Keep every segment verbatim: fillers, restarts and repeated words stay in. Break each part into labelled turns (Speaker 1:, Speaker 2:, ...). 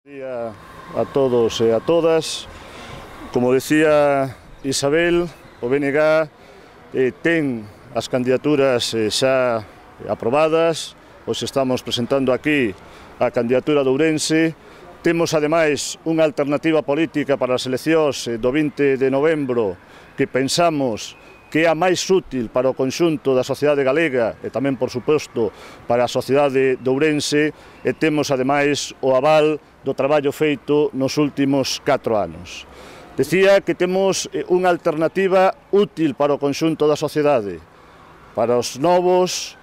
Speaker 1: Buen día a todos e a todas. Como decía Isabel, o B N G eh, ten as candidaturas eh, xa aprobadas. Os estamos presentando aquí a candidatura de Ourense. Temos, ademais, unha alternativa política para as eleccións do vinte de novembro que pensamos que é a máis útil para o conxunto da sociedade galega e tamén, por suposto, para a sociedade de Ourense, e temos, ademais, o aval do traballo feito nos últimos catro anos. Decía que temos unha alternativa útil para o conxunto da sociedade, para os novos,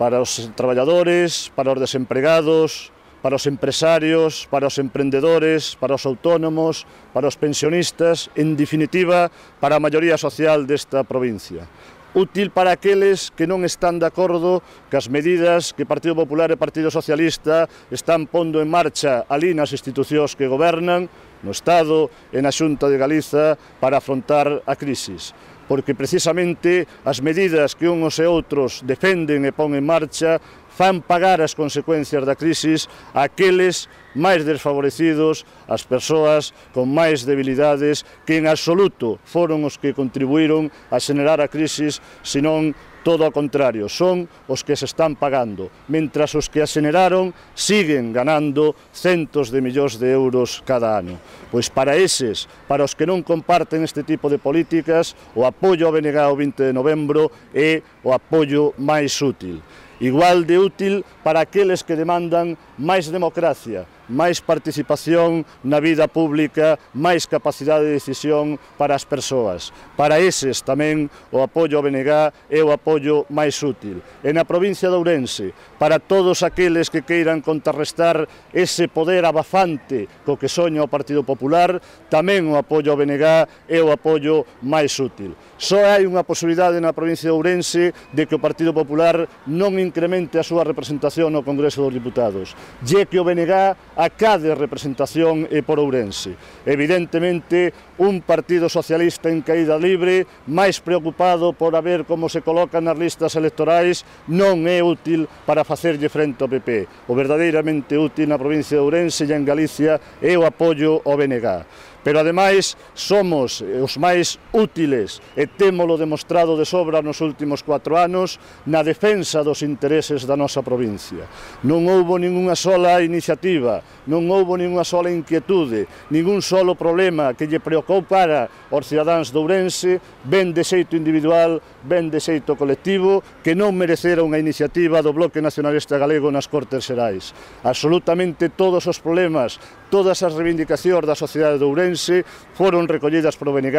Speaker 1: para os traballadores, para os desempregados, para os empresarios, para os emprendedores, para os autónomos, para os pensionistas, en definitiva, para a maioría social desta provincia. Útil para aqueles que non están de acordo cas medidas que Partido Popular e Partido Socialista están pondo en marcha ali nas institucións que gobernan, no Estado e na Xunta de Galiza, para afrontar a crisis. Porque precisamente as medidas que uns e outros defenden e pon en marcha fan pagar as consecuencias da crisis a aqueles máis desfavorecidos, as persoas con máis debilidades, que en absoluto foron os que contribuíron a xenerar a crisis, senón todo ao contrario, son os que se están pagando, mentras os que a xeneraron siguen ganando centos de millóns de euros cada ano. Pois para eses, para os que non comparten este tipo de políticas, o apoio ao B N G o vinte de novembro é o apoio máis útil. Igual de útil para aqueles que demandan máis democracia, máis participación na vida pública, máis capacidade de decisión para as persoas. Para eses tamén o apoio ao B N G é o apoio máis útil. E na provincia de Ourense, para todos aqueles que queiran contrarrestar ese poder abafante co que soña o Partido Popular, tamén o apoio ao B N G é o apoio máis útil. Só hai unha posibilidade na provincia de Ourense de que o Partido Popular non incremente a súa representación no Congreso dos Diputados, e que o B N G acade representación por Ourense. Evidentemente, un Partido Socialista en caída libre, máis preocupado por a ver como se colocan nas listas electorais, non é útil para facerlle frente ao P P. O verdadeiramente útil na provincia de Ourense e en Galicia é o apoio ao B N G. Pero, ademais, somos os máis útiles e témolo demostrado de sobra nos últimos cuatro anos na defensa dos intereses da nosa provincia. Non houbo ninguna sola iniciativa, non houbo ninguna sola inquietude, ningún solo problema que lle preocupara aos cidadáns de Ourense, ben de xeito individual, ben de xeito colectivo, que non merecera unha iniciativa do Bloque Nacionalista Galego nas Cortes Xerais. Absolutamente todos os problemas, todas as reivindicacións da sociedade de Ourense foron recollidas polo B N G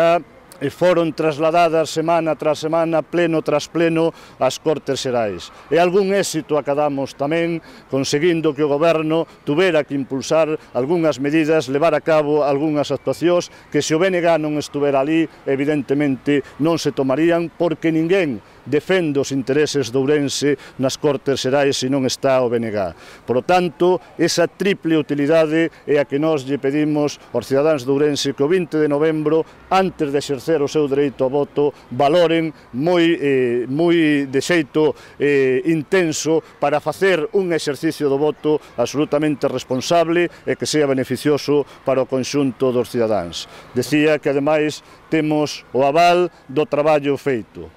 Speaker 1: e foron trasladadas semana tras semana, pleno tras pleno, ás Cortes Xerais. E algún éxito acadamos tamén, conseguindo que o Goberno tuvera que impulsar algunhas medidas, levar a cabo algunhas actuacións que, se o B N G non estuvera ali, evidentemente non se tomarían, porque ninguén defende os intereses de Ourense nas Cortes Xerais se non está o B N G. Por lo tanto, esa triple utilidade é a que nós lle pedimos aos cidadáns de Ourense que o vinte de novembro, antes de exercer o seu dereito ao voto, valoren moi, eh, moi de xeito eh, intenso para facer un exercicio do voto absolutamente responsable e que sea beneficioso para o conxunto dos cidadáns. Decía que, ademais, temos o aval do traballo feito.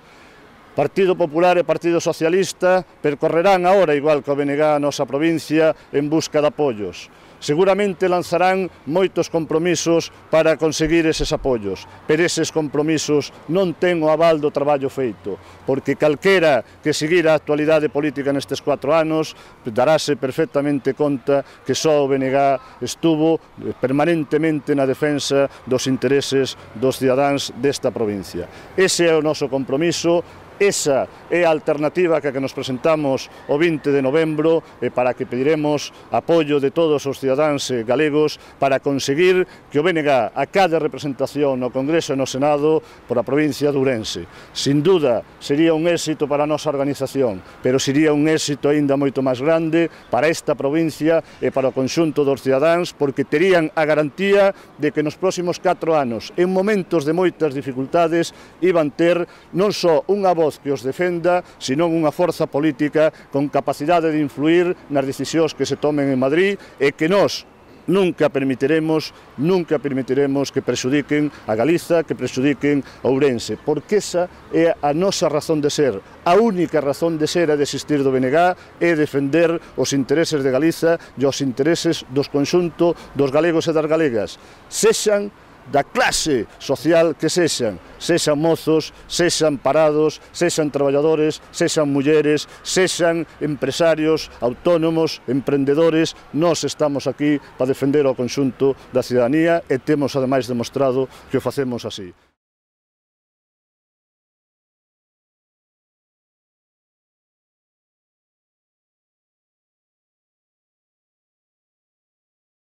Speaker 1: Partido Popular e Partido Socialista percorrerán agora, igual que o B N G a nosa provincia, en busca de apoios. Seguramente lanzarán moitos compromisos para conseguir eses apoios, pero eses compromisos non ten o aval do traballo feito, porque calquera que seguira a actualidade política nestes cuatro anos daráse perfectamente conta que só o B N G estuvo permanentemente na defensa dos intereses dos cidadáns desta provincia. Ese é o noso compromiso. Esa é a alternativa que nos presentamos o vinte de novembro e para que pediremos apoio de todos os cidadáns galegos para conseguir que o B N G acade representación no Congreso e no Senado por a provincia de Ourense. Sin duda, sería un éxito para a nosa organización, pero sería un éxito aínda moito máis grande para esta provincia e para o conxunto dos cidadáns, porque terían a garantía de que nos próximos catro anos, en momentos de moitas dificultades, iban ter non só unha voz que os defenda, senón unha forza política con capacidade de influir nas decisións que se tomen en Madrid e que nós, nunca permitiremos, nunca permitiremos que prexudiquen a Galiza, que prexudiquen a Ourense, porque esa é a nosa razón de ser. A única razón de ser e de existir do B N G é defender os intereses de Galiza e os intereses dos conxunto dos galegos e das galegas, sexan da clase social que sexan, sexan mozos, sexan parados, sexan traballadores, sexan mulleres, sexan empresarios, autónomos, emprendedores. Nós estamos aquí para defender o conxunto da cidadanía e temos ademais demostrado que o facemos así.